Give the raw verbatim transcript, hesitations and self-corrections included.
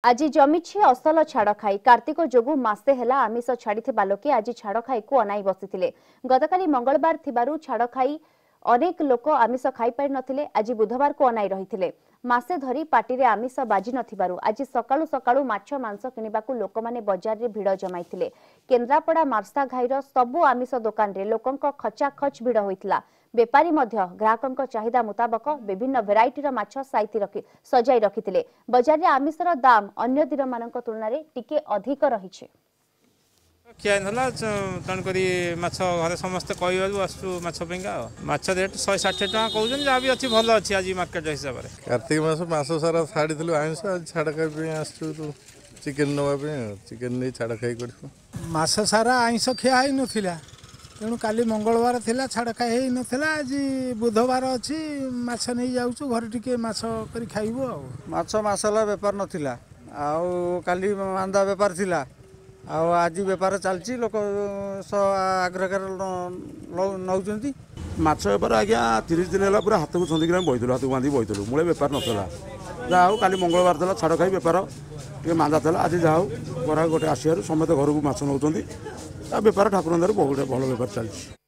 ଆଜି ଜମିଛି ଅସଲ ଛାଡ଼ଖାଇ। କାର୍ତ୍ତିକ ଯୋଗୁଁ ମାସେ ହେଲା ଆମିଷ ଛାଡ଼ିଥିବା ଲୋକେ ଆଜି ଛାଡ଼ଖାଇକୁ ଅନାଇ ବସିଥିଲେ। ଗତକାଲି ମଙ୍ଗଳବାର ଥିବାରୁ ଛାଡ଼ଖାଇ ଅନେକ ଲୋକ ଆମିଷ ଖାଇପାରିନଥିଲେ, ଆଜି ବୁଧବାରକୁ ଅନାଇ ରହିଥିଲେ। ମାସେ ଧରି ପାଟିରେ ଆମିଷ ବାଜି ନଥିବାରୁ ଆଜି ସକାଳୁ ସକାଳୁ ମାଛ ମାଂସ କିଣିବାକୁ ଲୋକମାନେ ବଜାରରେ ଭିଡ଼ ଜମାଇଥିଲେ। କେନ୍ଦ୍ରାପଡ଼ା ମାର୍ଶାଘାଇର ସବୁ ଆମିଷ ଦୋକାନରେ ଲୋକଙ୍କ ଖଚାଖଚ ଭିଡ଼ ହୋଇଥିଲା। ବେପାରୀ ମଧ୍ୟ ଗ୍ରାହକଙ୍କ ଚାହିଦା ମୁତାବକ ବିଭିନ୍ନ ଭେରାଇଟିର ମାଛ ସାଇତି ରଖି ସଜାଇ ରଖିଥିଲେ। ବଜାରରେ ଆମିଷର ଦାମ ଅନ୍ୟ ଦିନମାନଙ୍କ ତୁଳନାରେ ଟିକେ ଅଧିକ ରହିଛି। ଖିଆ ହେଇନଥିଲା, ତେଣୁକରି ମାଛ ଘରେ ସମସ୍ତେ କହିବାରୁ ଆସୁଛୁ ମାଛ ପାଇଁକା। ଆଉ ମାଛ ରେଟ୍ ଶହେ ଷାଠିଏ ଟଙ୍କା କହୁଛନ୍ତି, ଯାହା ବି ଅଛି ଭଲ ଅଛି ଆଜି ମାର୍କେଟ ହିସାବରେ। କାର୍ତ୍ତିକ ମାସ ମାସ ସାରା ଛାଡ଼ିଥିଲୁ ଆଇଁଷ, ଆଜି ଛାଡ଼ ଖାଇ ପାଇଁ ଆସିଛୁ ଚିକେନ୍ ନେବା ପାଇଁ। ଆଉ ଚିକେନ୍ ନେଇ ଛାଡ଼ ଖାଇ କରିବୁ। ମାସ ସାରା ଆଇଁଷ ଖିଆ ହେଇନଥିଲା, ତେଣୁ କାଲି ମଙ୍ଗଳବାର ଥିଲା, ଛାଡ଼ ଖାଇ ହେଇନଥିଲା। ଆଜି ବୁଧବାର ଅଛି, ମାଛ ନେଇ ଯାଉଛୁ, ଘରେ ଟିକେ ମାଛ କରି ଖାଇବୁ। ଆଉ ମାଛ ମାସ ହେଲା ବେପାର ନଥିଲା, ଆଉ କାଲି ମାନ୍ଦା ବେପାର ଥିଲା, ଆଉ ଆଜି ବେପାର ଚାଲିଛି, ଲୋକ ଆଗ୍ରହରେ ନେଉଛନ୍ତି। ମାଛ ବେପାର ଆଜ୍ଞା ତିରିଶ ଦିନ ହେଲା ପୁରା ହାତକୁ ଛନ୍ଦିକିରି ଆମେ ବହିଥିଲୁ, ହାତକୁ ବାନ୍ଧିକି ବହିଥିଲୁ, ମୂଳେ ବେପାର ନଥିଲା। ଯାହା ହଉ କାଲି ମଙ୍ଗଳବାର ଥିଲା, ଛାଡ଼ ଖାଇ ବେପାର ଟିକେ ମାନ୍ଦା ଥିଲା। ଆଜି ଯାହା ହଉ ଗରାଖ ଗୋଟେ ଆସିବାରୁ ସମସ୍ତେ ଘରକୁ ମାଛ ନେଉଛନ୍ତି। ତା ବେପାର ଠାକୁରଙ୍କ ଦ୍ୱାରା ବହୁତ ଭଲ ବେପାର ଚାଲିଛି।